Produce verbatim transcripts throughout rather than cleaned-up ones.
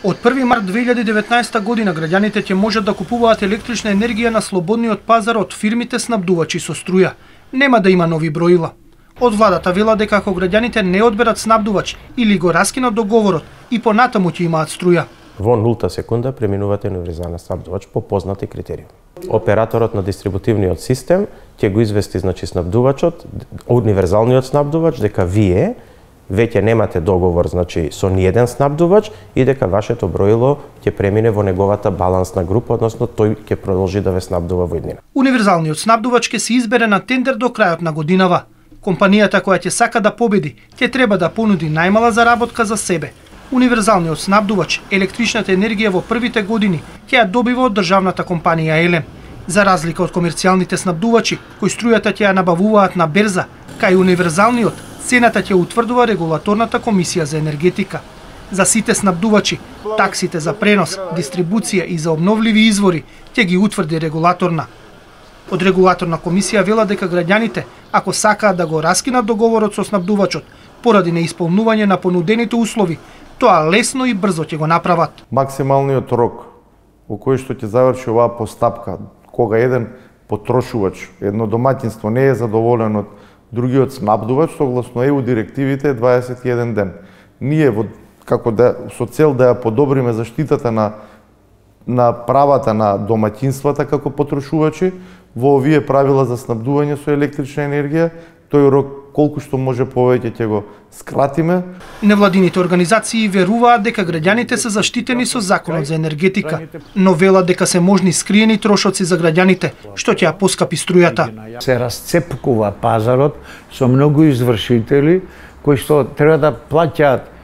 Од први март две илјади и деветнаесета година граѓаните ќе можат да купуваат електрична енергија на слободниот пазар од фирмите снабдувачи со струја. Нема да има нови броила. Од владата вела дека ако граѓаните не одберат снабдувач или го раскинат договорот и понатаму ќе имаат струја. Во нулта секунда преминувате универзален снабдувач по познати критериуми. Операторот на дистрибутивниот систем ќе го извести значи снабдувачот, универзалниот снабдувач дека вие веќе немате договор значи со ниеден снабдувач и дека вашето броило ќе премине во неговата балансна група, односно тој ќе продолжи да ве снабдува во иднина. Универзалниот снабдувач ќе се избере на тендер до крајот на годинава. Компанијата која ќе сака да победи ќе треба да понуди најмала заработка за себе. Универзалниот снабдувач електричната енергија во првите години ќе ја добива од државната компанија Елем. За разлика од комерцијалните снабдувачи кои струјата ќе ја набавуваат на берза, кај универзалниот цената ќе утврдува регулаторната комисија за енергетика. За сите снабдувачи, таксите за пренос, дистрибуција и за обновливи извори ќе ги утврди регулаторна. Од регулаторна комисија вела дека граѓаните, ако сакаат да го раскинат договорот со снабдувачот поради неисполнување на понудените услови, тоа лесно и брзо ќе го направат. Максималниот рок во кој што ќе заврши оваа постапка, кога еден потрошувач, едно домаќинство не е задоволено од другиот снабдувач, согласно Е У директивите е дваесет и еден ден. Ние во како да со цел да ја подобриме заштитата на на правата на домаќинствата како потрошувачи, во овие правила за снабдување со електрична енергија, тој рок колку што може повеќе ќе го скратиме. Невладините организации веруваат дека граѓаните се заштитени со законот за енергетика, но велат дека се можни скриени трошоци за граѓаните, што ќе ја поскапи струјата. Се расцепкува пазарот со многу извршители кои што треба да плаќаат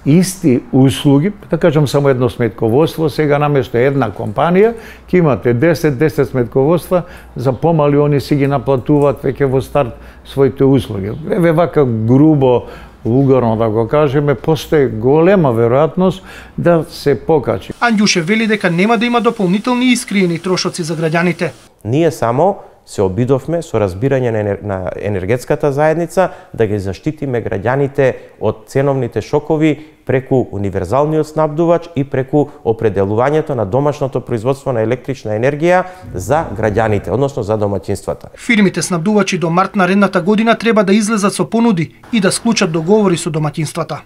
исти услуги, да кажам само едно сметководство, сега наместо една компанија ќе имате десет десет сметководства, за помали они си ги наплатуваат веќе во старт своите услуги. Еве вака грубо, вулгарно да го кажеме, постои голема веројатност да се покачи. Анѓушев вели дека нема да има дополнителни искриени трошоци за граѓаните. Ние само се обидовме со разбирање на, енер... на енергетската заедница да ги заштитиме граѓаните од ценовните шокови преку универзалниот снабдувач и преку определувањето на домашното производство на електрична енергија за граѓаните, односно за домаќинствата. Фирмите снабдувачи до март наредната година треба да излезат со понуди и да склучат договори со домаќинствата.